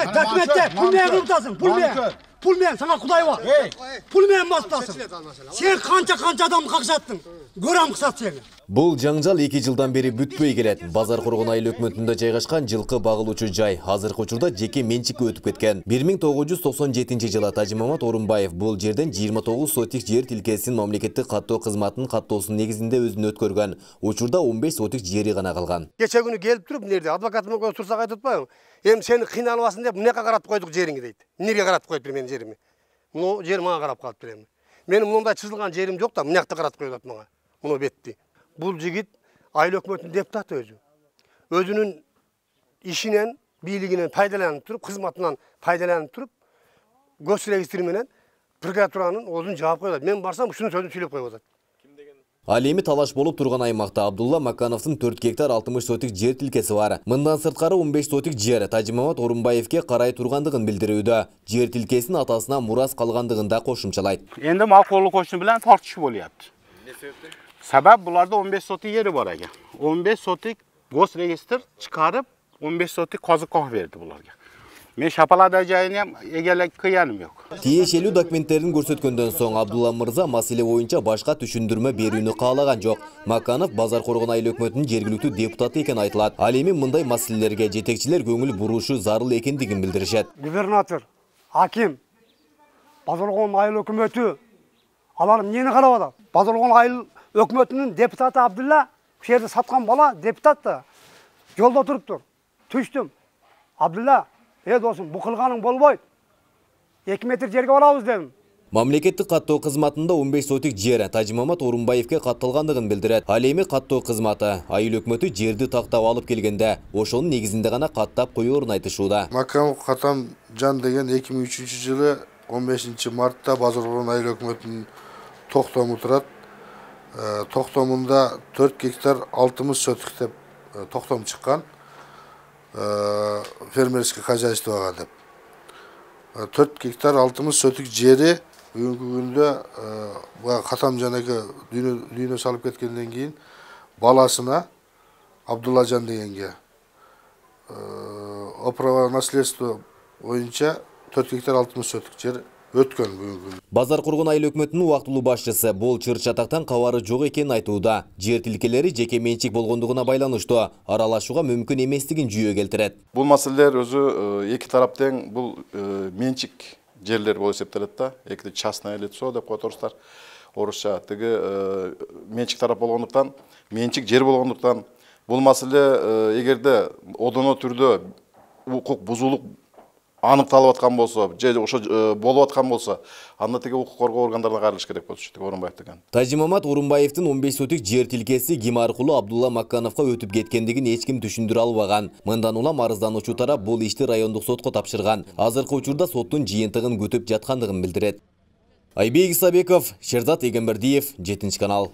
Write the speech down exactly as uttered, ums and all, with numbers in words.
Ey, dökmette, pul menен kılıptasın, pul menен. Pul menен, sana Kuday var. Pul menен basıptasın. Sen kança-kança adamı kakşattın. Görem kısat seni. Бул жаңжал эки жылдан бери бүтпөй келет. Базар Коргон айыл өкмөтүндө жайгашкан жылкы багылуучу жай азыркы учурда жеке менчикке өтүп кеткен. бир миң тогуз жүз токсон жетинчи жылы Тажимамат Орунбаев бул жерден жыйырма тогуз сотик жер тилкесин мамлекеттик каттоо кызматынын каттоосунун негизинде өзүнө өткөргөн. Учурда он беш сотик жери гана калган. Кече күнү келип туруп, нерде адвокатым менен турсак айтып атпайбы? Эми сени кыйналбасын деп мынакка каратып койдук жериңи дейт. Эмнеге каратып коюптур менин жерими? Муну жер мага карап калыптыр эми. Менин мындай чызылган жерим жок да, мынакта каратып коюлат мага. Муну бетти. Бул жигит айыл өкмөтүнүн депутаты өзү. Өзүнүн ишинен, бийлигинен пайдаланып туруп, кызматынан пайдаланып туруп, гос регистри менен прокуратуранын өзүн жаап коюлат. Мен барсам ушуну сөзүн сүйлөп коюп атат. Ал эми талаш болуп турган аймакта Абдулла Макановдун төрт гектар алтымыш сотик жер тилкеси бар. Мындан сырткары он беш сотик жер Тажимамат Орунбаевке карай тургандыгын билдирүүдө. Жер тилкесин атасына мурас калгандыгын да кошумчалайт. Энди мал колу кошуу менен тартышуу болуп. Себеп буларда он беш сотик жери бар экен. он беш сотик гос регистр чыгарып, он беш сотик казыкка берди буларга. Мен шапалада жайын эгелек кыяным жок. Тиешелүү документтерин көрсөткөндөн соң Абдулла мырза маселе боюнча башка түшүндүрмө берүүнү каалаган жок. Маканов Базар Коргон айыл өкмөтүнүн жергиликтүү депутаты экен айтылат. Ал эми мындай маселелерге жетекчилер көңүл бурушу зарыл экендигин билдиришет. Губернатор, аким, Базар Коргон айыл өкмөтү алар эмнени карап атат? Базар Коргон айыл өкмөтүнүн депутаты Абдулла, ушул жерде саткан бала депутат да. Жолдо туруптур. Түштүм. Абдулла, э досум, бу кылганың болбойт. эки метр жерге барабыз дедим. Мамлекеттик каттоо кызматында он беш сотик жер Тажимамат Орунбаевке катталгандыгын билдирет. Ал эми каттоо кызматы айыл өкмөтү жерди тактап алып келгенде, ошонун негизинде гана каттап коюурун айтышууда. Маканов Катам Жан деген эки миң үчүнчү жылы он бешинчи мартта Базар Коргон айыл өкмөтүнүн токтому турат. Токтомунда төрт гектар алтымыш сотик деп токтом чыккан. Фермерский хозяйствого деп. төрт гектар алтымыш сотик жери бүгүнкү күндө Катам жанеке дүйнө салып кеткенден кийин баласына Абдулла Жан дегенге оправа наследство боюнча төрт гектар алтымыш сотик жер өткөн бүгүнкү. Базар Коргон айыл өкмөтүнүн убактылуу башчысы бул чыр-чатактан кабары жок экенин айтууда. Жер тилкелери жеке менчик болгондугуна байланыштуу аралашууга мүмкүн эместигин жүйө келтирет. Бул маселелер өзү эки тарап тең бул менчик жерлер болуп эсептелет да. Эки частное лицо деп которсуздар. Орусча тиги менчик тарап болгондуктан, менчик жер болгондуктан бул маселе эгерде одоно түрдө укук бузуулук аныкталып аткан болсо, же ошо болуп аткан болсо, анда тиги укук коргоо органдарына кайрылыш керек болчу, тиги Орунбаев деген. Тажимамат Орунбаевдин он беш сотик жер тилкеси ким аркылуу Абдулла Макановго өтүп кеткендигин эч ким түшүндүрө албаган. Мындан улам арыздануучу тарап бул ишти райондук сотко тапшырган. Азыркы учурда соттун жыйынтыгын күтүп жаткандыгын билдирет. Айбек Исабеков, Шерзат Эгембердиев, жетинчи канал.